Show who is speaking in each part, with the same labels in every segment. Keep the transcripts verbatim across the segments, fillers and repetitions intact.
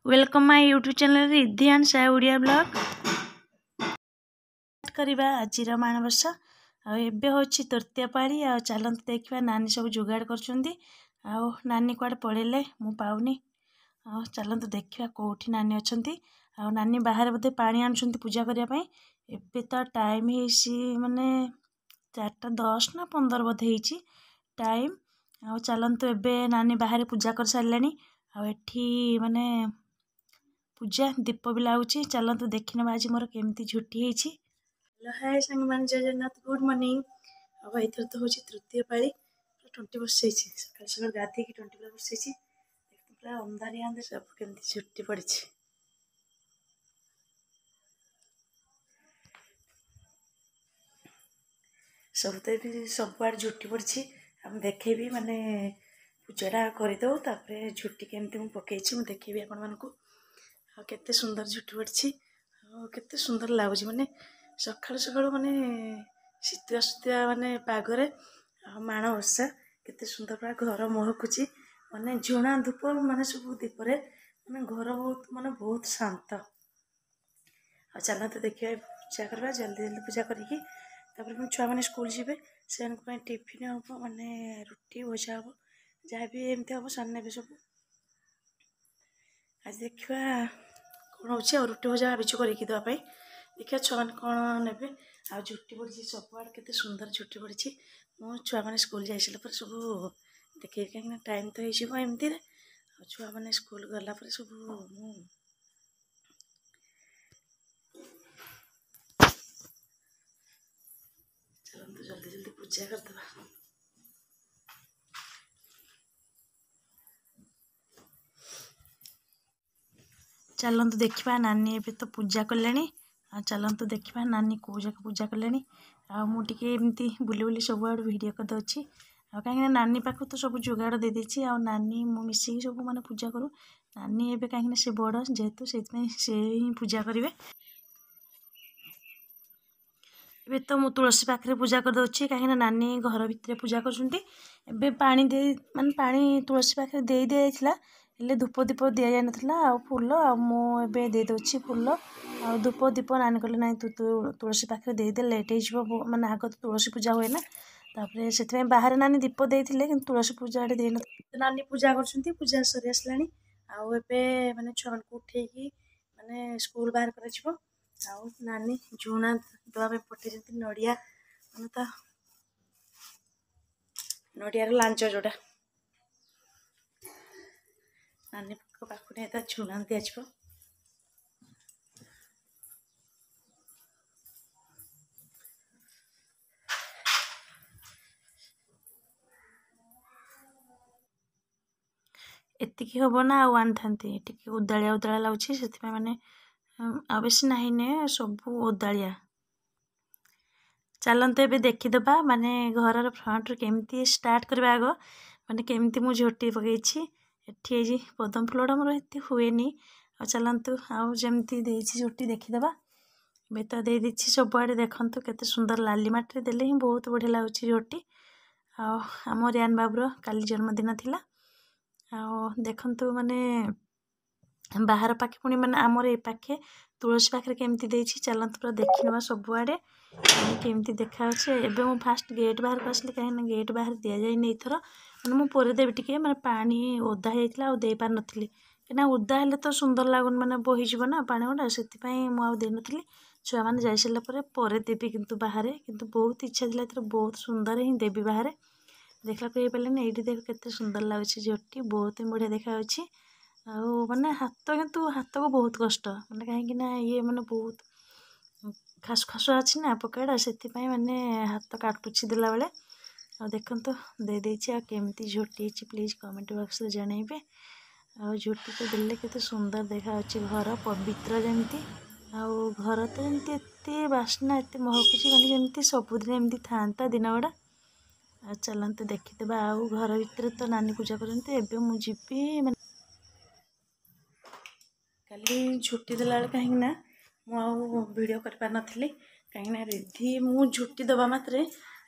Speaker 1: Welcome my YouTube channel Riddhi and Sai Odia blog. କରିବା ଆଜିର ମାଣବସା। ଆଉ ଏବେ ହେଉଛି ତୃତୀୟ ପାଳି। ଆଉ ଚାଲନ୍ତୁ ଦେଖିବା ନାନୀ ସବୁ ଯୋଗାଡ଼ କରୁଛନ୍ତି। ଆଉ ନାନୀ କୁଆଡ଼େ ପଳେଇଲେ, ମୁଁ ପାଉନି। ଆଉ ଚାଲନ୍ତୁ ଦେଖିବା କେଉଁଠି ନାନୀ ଅଛନ୍ତି। ଆଉ ନାନୀ ବାହାରେ ବୋଧେ ପାଣି ଆଣୁଛନ୍ତି ପୂଜା କରିବା ପାଇଁ। ଏବେ ତ ଟାଇମ୍ ହେଇଛି ମାନେ ଚାରିଟା ଦଶ ନା ପନ୍ଦର ବୋଧେ ହେଇଛି ଟାଇମ୍। ଆଉ ଚାଲନ୍ତୁ, ଏବେ ନାନୀ ବାହାରେ ପୂଜା କରିସାରିଲେଣି। ଆଉ ଏଠି ମାନେ ପୂଜା ଦୀପ ବି ଲାଗୁଛି। ଚାଲନ୍ତୁ ଦେଖିନେବା ଆଜି ମୋର କେମିତି ଝୋଟି ହେଇଛି। ହ୍ୟାଲୋ, ହାଏ ସାଙ୍ଗମାନେ, ଜୟ ଜଗନ୍ନାଥ, ଗୁଡ଼୍ ମର୍ଣ୍ଣିଂ। ଆଉ ଏଥର ତ ହେଉଛି ତୃତୀୟ ପାଳି। ପୁରା ତଣ୍ଟି ବସିଯାଇଛି, ସକାଳୁ ସକାଳୁ ଗାଧେଇକି ତଣ୍ଟି ପୁରା ବସିଯାଇଛି। ପୁରା ଅନ୍ଧାରିଆ ଅନ୍ଧାର, ସବୁ କେମିତି ଝୋଟି ପଡ଼ିଛି। ସବୁ ତ ଏବେ ସବୁଆଡ଼େ ଝୋଟି ପଡ଼ିଛି। ଆଉ ମୁଁ ଦେଖେଇବି, ମାନେ ପୂଜାଟା କରିଦେଉ, ତାପରେ ଝୋଟି କେମିତି ମୁଁ ପକେଇଛି ମୁଁ ଦେଖେଇବି ଆପଣମାନଙ୍କୁ। ଆଉ କେତେ ସୁନ୍ଦର ଝୋଟି ପଡ଼ିଛି, ଆଉ କେତେ ସୁନ୍ଦର ଲାଗୁଛି। ମାନେ ସକାଳୁ ସକାଳୁ ମାନେ ଶୀତୁଆ ଶୀତୁଆ ମାନେ ପାଗରେ ଆଉ ମାଣବସା କେତେ ସୁନ୍ଦର, ପୁରା ଘର ମହକୁଛି। ମାନେ ଝୁଣା ଧୂପ ମାନେ ସବୁ ଦୀପରେ ମାନେ ଘର ବହୁତ ମାନେ ବହୁତ ଶାନ୍ତ। ଆଉ ଚାଲନ୍ତୁ ଦେଖିବା, ପୂଜା କରିବା ଜଲ୍ଦି ଜଲ୍ଦି। ପୂଜା କରିକି ତାପରେ ପୁଣି ଛୁଆମାନେ ସ୍କୁଲ ଯିବେ, ସେମାନଙ୍କ ପାଇଁ ଟିଫିନ୍ ହେବ, ମାନେ ରୁଟି ଭଜା ହେବ, ଯାହା ବି ଏମିତି ହେବ ସେମାନେ ନେବେ ସବୁ। ଆଜି ଦେଖିବା କ'ଣ ହେଉଛି। ଆଉ ରୁଟି ଭଜା ଭାବିଛୁ କରିକି ଦେବା ପାଇଁ, ଦେଖିବା ଛୁଆମାନେ କ'ଣ ନେବେ। ଆଉ ଝୋଟି ପଡ଼ିଛି ସବୁଆଡ଼େ, କେତେ ସୁନ୍ଦର ଝୋଟି ପଡ଼ିଛି। ମୁଁ ଛୁଆମାନେ ସ୍କୁଲ ଯାଇସାରିଲା ପରେ ସବୁ ଦେଖେଇବି, କାହିଁକିନା ଟାଇମ୍ ତ ହେଇଯିବ ଏମିତିରେ। ଆଉ ଛୁଆମାନେ ସ୍କୁଲ ଗଲା ପରେ ସବୁ ମୁଁ ଚାଲନ୍ତୁ ଜଲ୍ଦି ଜଲ୍ଦି ପୂଜା କରିଦେବା। ଚାଲନ୍ତୁ ଦେଖିବା, ନାନୀ ଏବେ ତ ପୂଜା କଲେଣି। ଆଉ ଚାଲନ୍ତୁ ଦେଖିବା ନାନୀ କେଉଁ ଯାକ ପୂଜା କଲେଣି। ଆଉ ମୁଁ ଟିକେ ଏମିତି ବୁଲି ବୁଲି ସବୁଆଡ଼ୁ ଭିଡ଼ିଓ କରିଦେଉଛି। ଆଉ କାହିଁକିନା ନାନୀ ପାଖକୁ ତ ସବୁ ଯୋଗାଡ଼ ଦେଇଦେଇଛି। ଆଉ ନାନୀ ମୁଁ ମିଶିକି ସବୁ ମାନେ ପୂଜା କରୁ। ନାନୀ ଏବେ କାହିଁକିନା ସେ ବଡ଼ ଯେହେତୁ, ସେଇଥିପାଇଁ ସେ ହିଁ ପୂଜା କରିବେ। ଏବେ ତ ମୁଁ ତୁଳସୀ ପାଖରେ ପୂଜା କରିଦେଉଛି, କାହିଁକିନା ନାନୀ ଘର ଭିତରେ ପୂଜା କରୁଛନ୍ତି। ଏବେ ପାଣି ଦେଇ ମାନେ ପାଣି ତୁଳସୀ ପାଖରେ ଦେଇ ଦିଆଯାଇଥିଲା, ହେଲେ ଧୂପ ଦୀପ ଦିଆଯାଇନଥିଲା ଆଉ ଫୁଲ। ଆଉ ମୁଁ ଏବେ ଦେଇଦେଉଛି ଫୁଲ ଆଉ ଧୂପ ଦୀପ। ନାନୀ କହିଲେ, ନାଇଁ, ତୁ ତୁଳସୀ ପାଖରେ ଦେଇଦେ, ଲେଟ୍ ହେଇଯିବ। ମାନେ ଆଗ ତ ତୁଳସୀ ପୂଜା ହୁଏ ନା, ତାପରେ ସେଥିପାଇଁ ବାହାରେ ନାନୀ ଦୀପ ଦେଇଥିଲେ, କିନ୍ତୁ ତୁଳସୀ ପୂଜା ଏଠି ଦେଇନଥିଲେ। ନାନୀ ପୂଜା କରୁଛନ୍ତି, ପୂଜା ସରି ଆସିଲାଣି। ଆଉ ଏବେ ମାନେ ଛୁଆମାନଙ୍କୁ ଉଠେଇକି ମାନେ ସ୍କୁଲ ବାହାର କରାଯିବ। ଆଉ ନାନୀ ଝୁଣା ଦେବା ପାଇଁ ପଠେଇଛନ୍ତି ନଡ଼ିଆ, ମାନେ ତା ନଡ଼ିଆର ଲାଞ୍ଜ ଯୋଉଟା ନାନୀଙ୍କ ପାଖକୁ ନେଇ ତା ଝୁଣା ଦିଆଯିବ। ଏତିକି ହେବ ନା ଆଉ ଆଣିଥାନ୍ତି? ଟିକେ ଓଦାଳିଆ ଓଦାଳିଆ ଲାଗୁଛି, ସେଥିପାଇଁ ମାନେ ଆଉ ବେଶୀ ନାହିଁ ନେ, ସବୁ ଓଦାଳିଆ। ଚାଲନ୍ତୁ ଏବେ ଦେଖିଦେବା ମାନେ ଘରର ଫ୍ରଣ୍ଟରୁ କେମିତି ଷ୍ଟାର୍ଟ କରିବା ଆଗ, ମାନେ କେମିତି ମୁଁ ଝୋଟି ପକେଇଛି। ଏଠି ଏଇ ପଦ୍ମ ଫୁଲଟା ମୋର ଏତେ ହୁଏନି। ଆଉ ଚାଲନ୍ତୁ, ଆଉ ଯେମିତି ଦେଇଛି ଝୋଟି ଦେଖିଦେବା। ଏବେ ତ ଦେଇଦେଇଛି ସବୁଆଡ଼େ, ଦେଖନ୍ତୁ କେତେ ସୁନ୍ଦର ଲାଲି ମାଟିରେ ଦେଲେ ହିଁ ବହୁତ ବଢ଼ିଆ ଲାଗୁଛି ଝୋଟି। ଆଉ ଆମ ରିୟାନ ବାବୁର କାଲି ଜନ୍ମଦିନ ଥିଲା। ଆଉ ଦେଖନ୍ତୁ ମାନେ ବାହାର ପାଖେ ପୁଣି ମାନେ ଆମର ଏ ପାଖେ ତୁଳସୀ ପାଖରେ କେମିତି ଦେଇଛି। ଚାଲନ୍ତୁ ପୁରା ଦେଖିନେବା ସବୁଆଡ଼େ କେମିତି ଦେଖାଯାଉଛି। ଏବେ ମୁଁ ଫାଷ୍ଟ ଗେଟ୍ ବାହାରକୁ ଆସିଲି, କାହିଁକିନା ଗେଟ୍ ବାହାରେ ଦିଆଯାଇନି ଏଇଥର। ମାନେ ମୁଁ ପରେ ଦେବି, ଟିକେ ମାନେ ପାଣି ଓଦା ହେଇଯାଇଥିଲା ଆଉ ଦେଇପାରିନଥିଲି, କାହିଁକିନା ଓଦା ହେଲେ ତ ସୁନ୍ଦର ଲାଗୁନି, ମାନେ ବୋହିଯିବ ନା ପାଣି ଗୁଡ଼ା, ସେଥିପାଇଁ ମୁଁ ଆଉ ଦେଇନଥିଲି। ଛୁଆମାନେ ଯାଇସାରିଲା ପରେ ପରେ ଦେବି କିନ୍ତୁ ବାହାରେ। କିନ୍ତୁ ବହୁତ ଇଚ୍ଛା ଥିଲା ଏଥର ବହୁତ ସୁନ୍ଦର ହିଁ ଦେବି ବାହାରେ, ଦେଖିଲାକୁ ହେଇପାରିଲାନି। ଏଇଠି ଦେଖ କେତେ ସୁନ୍ଦର ଲାଗୁଛି ଝୋଟି, ବହୁତ ହିଁ ବଢ଼ିଆ ଦେଖାଯାଉଛି। ଆଉ ମାନେ ହାତ କିନ୍ତୁ ହାତକୁ ବହୁତ କଷ୍ଟ, ମାନେ କାହିଁକି ନା ଇଏ ମାନେ ବହୁତ ଖାସ ଖାସୁଆ ଅଛି ନା ପକାଟା, ସେଥିପାଇଁ ମାନେ ହାତ କାଟୁଛି ଦେଲାବେଳେ। ଆଉ ଦେଖନ୍ତୁ ଦେଇଦେଇଛି। ଆଉ କେମିତି ଝୋଟି ହେଇଛି ପ୍ଲିଜ୍ କମେଣ୍ଟ ବକ୍ସରେ ଜଣାଇବେ। ଆଉ ଝୋଟି ତ ଦେଲେ କେତେ ସୁନ୍ଦର ଦେଖାଯାଉଛି, ଘର ପବିତ୍ର ଯେମିତି। ଆଉ ଘର ତ ଯେମିତି ଏତେ ବାସ୍ନା, ଏତେ ମହକୁଛି, ମାନେ ଯେମିତି ସବୁଦିନ ଏମିତି ଥାଆନ୍ତା ଦିନ ଗୁଡ଼ା। ଆଉ ଚାଲନ୍ତୁ ଦେଖିଦେବା। ଆଉ ଘର ଭିତରେ ତ ନାନୀ ପୂଜା କରନ୍ତି, ଏବେ ମୁଁ ଯିବି। ମାନେ କାଲି ଝୋଟି ଦେଲାବେଳେ କାହିଁକି ନା ମୁଁ ଆଉ ଭିଡ଼ିଓ କରିପାରିନଥିଲି, କାହିଁକିନା ରିଧି ମୁଁ ଝୋଟି ଦେବା ମାତ୍ରେ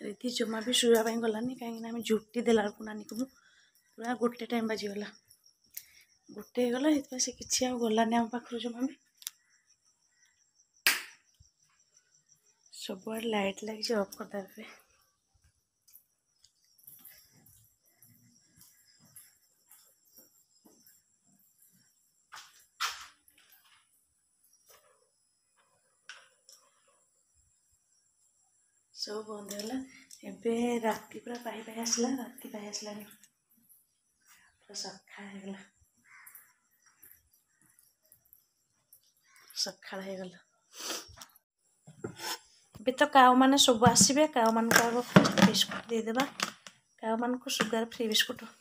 Speaker 1: ରିଧି ଜମା ବି ଶୋଇବା ପାଇଁ ଗଲାନି। କାହିଁକିନା ଆମେ ଝୋଟି ଦେଲା ବେଳକୁ ନାନୀକୁ ମୁଁ ପୁରା ଗୋଟେ ଟାଇମ୍ ବାଜିଗଲା। ଗୋଟେ ହେଇଗଲା, ସେଥିପାଇଁ ସେ କିଛି ଆଉ ଗଲାନି ଆମ ପାଖରୁ ଜମା ବି। ସବୁଆଡ଼େ ଲାଇଟ୍ ଲାଗିଛି, ଅଫ୍ କରିଦେବା ଏବେ। ସବୁ ବନ୍ଦ ହେଲା। ଏବେ ରାତି ପୁରା ପାଇ ପାଇ ଆସିଲା, ରାତି ପାଇ ଆସିଲାଣି, ପୁରା ସକାଳ ହେଇଗଲା, ସକାଳ ହେଇଗଲା। ଏବେ ତ କାଉମାନେ ସବୁ ଆସିବେ। କାଉମାନଙ୍କୁ ଆଗ ଫାଷ୍ଟ ବିସ୍କୁଟ ଦେଇଦେବା, କାଉମାନଙ୍କୁ ସୁଗାର ଫ୍ରି ବିସ୍କୁଟ।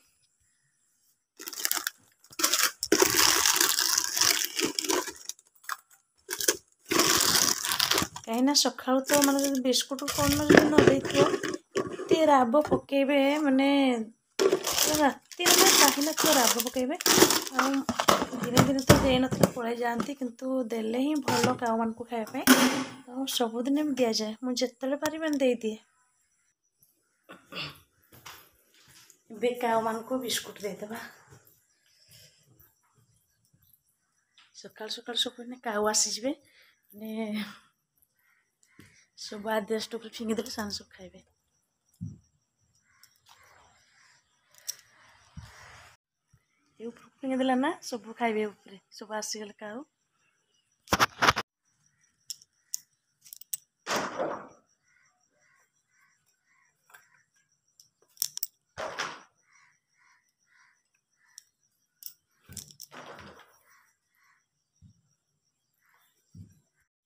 Speaker 1: କାହିଁକିନା ସକାଳୁ ତ ମାନେ ଯଦି ବିସ୍କୁଟ କ'ଣ ଯଦି ନ ଦେଇଥିବ, ଏତେ ରାବ ପକେଇବେ, ମାନେ ରାତି ମାନେ ପାହିନଥିବ ରାବ ପକେଇବେ। ଆଉ ଦିନେ ଦିନେ ତ ଦେଇନଥିଲେ ପଳେଇ ଯାଆନ୍ତି, କିନ୍ତୁ ଦେଲେ ହିଁ ଭଲ କାଉମାନଙ୍କୁ ଖାଇବା ପାଇଁ। ଆଉ ସବୁଦିନ ବି ଦିଆଯାଏ, ମୁଁ ଯେତେବେଳେ ପାରିବି ଦେଇଦିଏ। ଏବେ କାଉମାନଙ୍କୁ ବିସ୍କୁଟ ଦେଇଦେବା। ସକାଳୁ ସକାଳୁ ସବୁ ମାନେ କାଉ ଆସିଯିବେ, ମାନେ ସବୁ ଆଦିବାସୀ ଉପରେ ଫିଙ୍ଗିଦେଲେ ସେମାନେ ସବୁ ଖାଇବେ। ଏ ଉପରକୁ ଫିଙ୍ଗିଦେଲା ନା, ସବୁ ଖାଇବେ ଉପରେ, ସବୁ ଆସିଗଲେ କାଉ।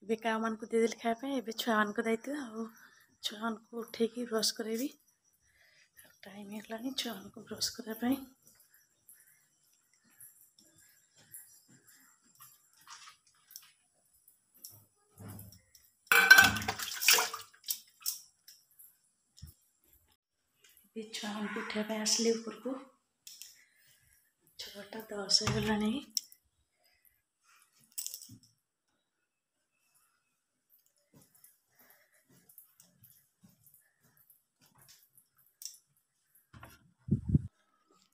Speaker 1: ଏବେ କାଉମାନଙ୍କୁ ଦେଇଦେଲି ଖାଇବା ପାଇଁ, ଏବେ ଛୁଆମାନଙ୍କ ଦାୟିତ୍ୱ। ଆଉ ଛୁଆମାନଙ୍କୁ ଉଠେଇକି ବ୍ରସ୍ କରାଇବି। ଟାଇମ୍ ହେଲାଣି ଛୁଆମାନଙ୍କୁ ବ୍ରସ୍ କରିବା ପାଇଁ। ଏବେ ଛୁଆମାନଙ୍କୁ ଉଠେଇବା ପାଇଁ ଆସିଲି ଉପରକୁ। ଛଅଟା ଦଶ ହେଇଗଲାଣି।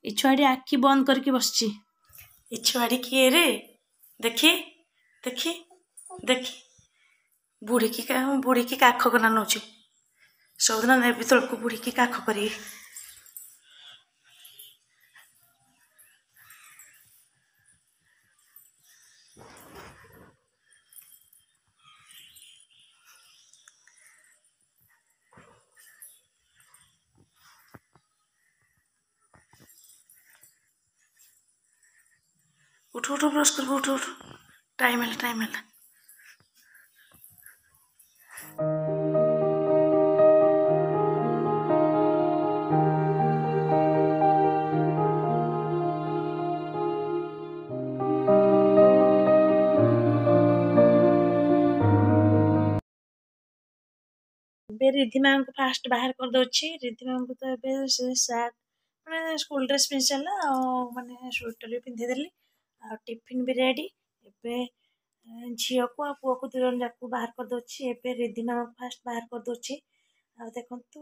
Speaker 1: ଏ ଛୁଆଟି ଆଖି ବନ୍ଦ କରିକି ବସିଛି। ଏ ଛୁଆଟି କିଏ ରେ? ଦେଖି ଦେଖି ଦେଖି, ବୁଢ଼ୀକି ବୁଢ଼ୀକି କାଖ କନା ନେଉଛି। ସବୁଦିନ ନେବି ତଳକୁ ବୁଢ଼ୀକି କାଖ କରିକି। ଉଠୁ ଉଠୁ, ବ୍ରସ୍ କରିବୁ, ଉଠୁ ଉଠୁ, ଟାଇମ୍ ହେଲା, ଟାଇମ୍ ହେଲା। ଏବେ ରିଧିମାଙ୍କୁ ଫାଷ୍ଟ ବାହାର କରିଦେଉଛି। ରିଧିମାଙ୍କୁ ତ ଏବେ ସେ ସାର୍ଟ ମାନେ ସ୍କୁଲ ଡ୍ରେସ୍ ପିନ୍ଧି ସାରିଲା, ଆଉ ମାନେ ସ୍ୱେଟର୍ ବି ପିନ୍ଧେଇଦେଲି, ଆଉ ଟିଫିନ୍ ବି ରେଡ଼ି। ଏବେ ଝିଅକୁ ଆଉ ପୁଅକୁ ଦୁଇ ଜଣ ଯାକୁ ବାହାର କରିଦେଉଛି। ଏବେ ରିଧିମାଙ୍କୁ ଫାଷ୍ଟ ବାହାର କରିଦେଉଛି। ଆଉ ଦେଖନ୍ତୁ,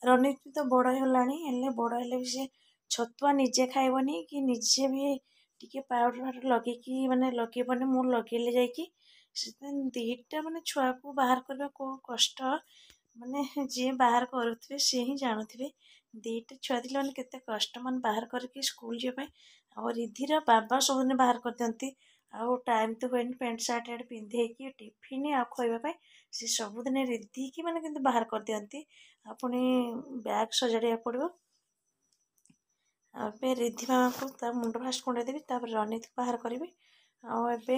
Speaker 1: ରନିତ ତ ବଡ଼ ହେଇଗଲାଣି, ହେଲେ ବଡ଼ ହେଲେ ବି ସେ ଛତୁଆ ନିଜେ ଖାଇବନି କି ନିଜେ ବି ଟିକେ ପାଉଡ଼ର ଫାଉଡ଼ର ଲଗେଇକି ମାନେ ଲଗେଇବନି, ମୁଁ ଲଗେଇଲେ ଯାଇକି। ସେଥିପାଇଁ ଦୁଇଟା ମାନେ ଛୁଆକୁ ବାହାର କରିବା କେଉଁ କଷ୍ଟ, ମାନେ ଯିଏ ବାହାର କରୁଥିବେ ସିଏ ହିଁ ଜାଣୁଥିବେ। ଦୁଇଟା ଛୁଆ ଥିଲେ ମାନେ କେତେ କଷ୍ଟ, ମାନେ ବାହାର କରିକି ସ୍କୁଲ ଯିବା ପାଇଁ। ଆଉ ରିଧିର ବାବା ସବୁଦିନ ବାହାର କରିଦିଅନ୍ତି, ଆଉ ଟାଇମ୍ ତ ହୁଏନି ପ୍ୟାଣ୍ଟ ସାର୍ଟ ଆଡ଼େ ପିନ୍ଧେଇକି ଟିଫିନ୍ ଆଉ ଖୋଇବା ପାଇଁ। ସେ ସବୁଦିନ ରିଧିକି ମାନେ କିନ୍ତୁ ବାହାର କରିଦିଅନ୍ତି, ଆଉ ପୁଣି ବ୍ୟାଗ୍ ସଜାଡ଼ିବାକୁ ପଡ଼ିବ। ଆଉ ଏବେ ରିଧି ମାମାକୁ ତା ମୁଣ୍ଡ ଫାଷ୍ଟ କୁଣ୍ଡେଇ ଦେବି, ତାପରେ ରନିତକୁ ବାହାର କରିବି। ଆଉ ଏବେ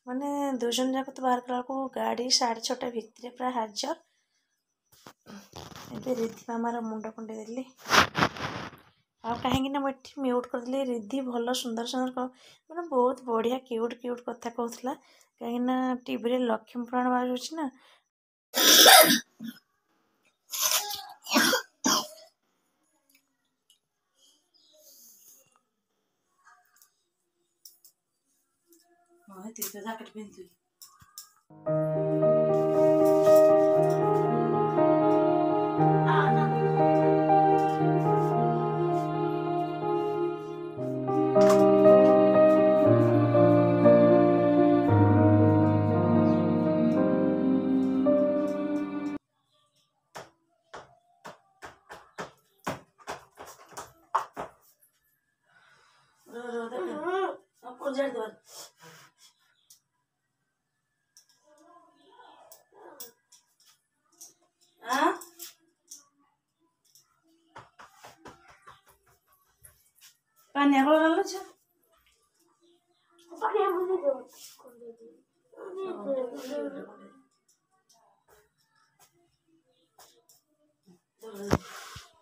Speaker 1: ମାନେ ଦୁଇ ଜଣ ଯାକ ତ ବାହାର କଲା ବେଳକୁ ଗାଡ଼ି ସାଢ଼େ ଛଅଟା ଭିତରେ ପୁରା ହାଜର। ଏବେ ରିଧି ମାମାର ମୁଣ୍ଡ କୁଣ୍ଡେଇ ଦେଲି। ଆଉ କାହିଁକି ନା ମୁଁ ଏଠି ମ୍ୟୁଟ୍ କରିଦେଲି। ରିଧି ଭଲ ସୁନ୍ଦର ସୁନ୍ଦର ମାନେ ବହୁତ ବଢ଼ିଆ କ୍ୟୁଟ୍ କ୍ୟୁଟ୍ କଥା କହୁଥିଲା, କାହିଁକିନା ଟିଭିରେ ଲକ୍ଷ୍ମୀ ପୁରାଣ ବାଜୁଛି ନା। ହଁ, ଏତିକି ଜ୍ୟାକେଟ୍ ପିନ୍ଧିଥିଲି। ଝାଡ଼ି ଦେବା। ଆଁ ପାନିଆ କଲର ଝିଅ।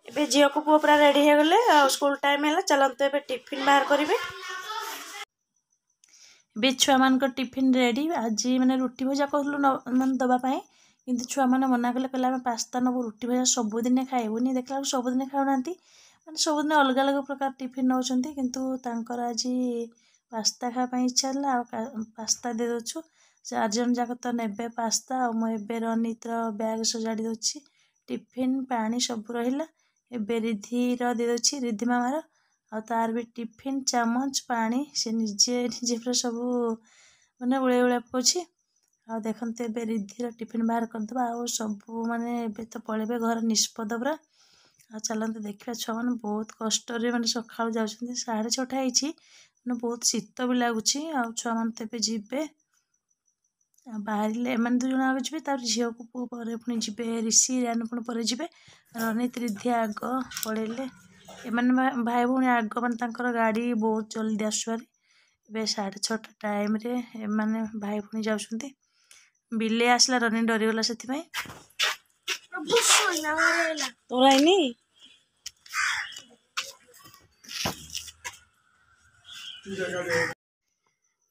Speaker 1: ଏବେ ଝିଅକୁ ପୁଅ ପୁରା ରେଡ଼ି ହେଇଗଲେ ଆଉ ସ୍କୁଲ ଟାଇମ୍ ହେଲା। ଚାଲନ୍ତୁ ଏବେ ଟିଫିନ୍ ବାହାର କରିବେ। ଏବେ ଛୁଆମାନଙ୍କ ଟିଫିନ୍ ରେଡ଼ି। ଆଜି ମାନେ ରୁଟି ଭଜା କହୁଥିଲୁ ମାନେ ଦେବା ପାଇଁ, କିନ୍ତୁ ଛୁଆମାନେ ମନା କଲେ, କହିଲେ ଆମେ ପାସ୍ତା ନେବୁ, ରୁଟି ଭଜା ସବୁଦିନେ ଖାଇବୁନି। ଦେଖିଲା ବେଳକୁ ସବୁଦିନେ ଖାଉନାହାନ୍ତି, ମାନେ ସବୁଦିନ ଅଲଗା ଅଲଗା ପ୍ରକାର ଟିଫିନ୍ ନେଉଛନ୍ତି, କିନ୍ତୁ ତାଙ୍କର ଆଜି ପାସ୍ତା ଖାଇବା ପାଇଁ ଇଚ୍ଛା ହେଲା ଆଉ ପାସ୍ତା ଦେଇଦେଉଛୁ। ଚାରିଜଣ ଯାକ ତ ନେବେ ପାସ୍ତା। ଆଉ ମୁଁ ଏବେ ରନିତର ବ୍ୟାଗ୍ ସଜାଡ଼ି ଦେଉଛି, ଟିଫିନ୍ ପାଣି ସବୁ ରହିଲା। ଏବେ ରିଧିର ଦେଇଦେଉଛି, ରିଧି ମାମାର, ଆଉ ତାର ବି ଟିଫିନ୍, ଚାମଚ, ପାଣି ସେ ନିଜେ ନିଜେ ପୁରା ସବୁ ମାନେ ଉଳେଇ ଉଳା ପକାଉଛି। ଆଉ ଦେଖନ୍ତୁ ଏବେ ରିଧିର ଟିଫିନ୍ ବାହାର କରିଦେବା। ଆଉ ସବୁ ମାନେ ଏବେ ତ ପଳେଇବେ, ଘର ନିଷ୍ପଦ ପୁରା। ଆଉ ଚାଲନ୍ତୁ ଦେଖିବା, ଛୁଆମାନେ ବହୁତ କଷ୍ଟରେ ମାନେ ସକାଳୁ ଯାଉଛନ୍ତି। ସାଢ଼େ ଛଅଟା ହେଇଛି, ମାନେ ବହୁତ ଶୀତ ବି ଲାଗୁଛି। ଆଉ ଛୁଆମାନେ ତ ଏବେ ଯିବେ। ଆଉ ବାହାରିଲେ ଏମାନେ ଦୁଇ ଜଣ ଆଗ ଯିବେ, ତାପରେ ଝିଅକୁ ପୁଅ ପରେ ପୁଣି ଯିବେ, ରିଷି ରିଆନ ପୁଣି ପରେ ଯିବେ। ରନିତ ରିଧି ଆଗ ପଳେଇଲେ। ଏମାନେ ଭାଇ ଭଉଣୀ ଆଗ, ମାନେ ତାଙ୍କର ଗାଡ଼ି ବହୁତ ଜଲ୍ଦି ଆସୁଭାରି। ଏବେ ସାଢ଼େ ଛଅଟା ଟାଇମ୍ରେ ଏମାନେ ଭାଇ ଭଉଣୀ ଯାଉଛନ୍ତି। ବିଲେଇ ଆସିଲା, ରନି ଡରିଗଲା ସେଥିପାଇଁ। ତୋର ହେଇନି।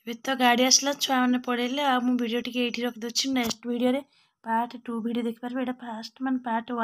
Speaker 1: ଏବେ ତ ଗାଡ଼ି ଆସିଲା, ଛୁଆମାନେ ପଳେଇଲେ। ଆଉ ମୁଁ ଭିଡ଼ିଓ ଟିକେ ଏଇଠି ରଖିଦେଉଛି। ନେକ୍ସଟ ଭିଡ଼ିଓରେ ପାର୍ଟ ଟୁ ଭିଡ଼ିଓ ଦେଖିପାରିବେ। ଏଇଟା ଫାଷ୍ଟ ମାନେ ପାର୍ଟ ୱାନ୍।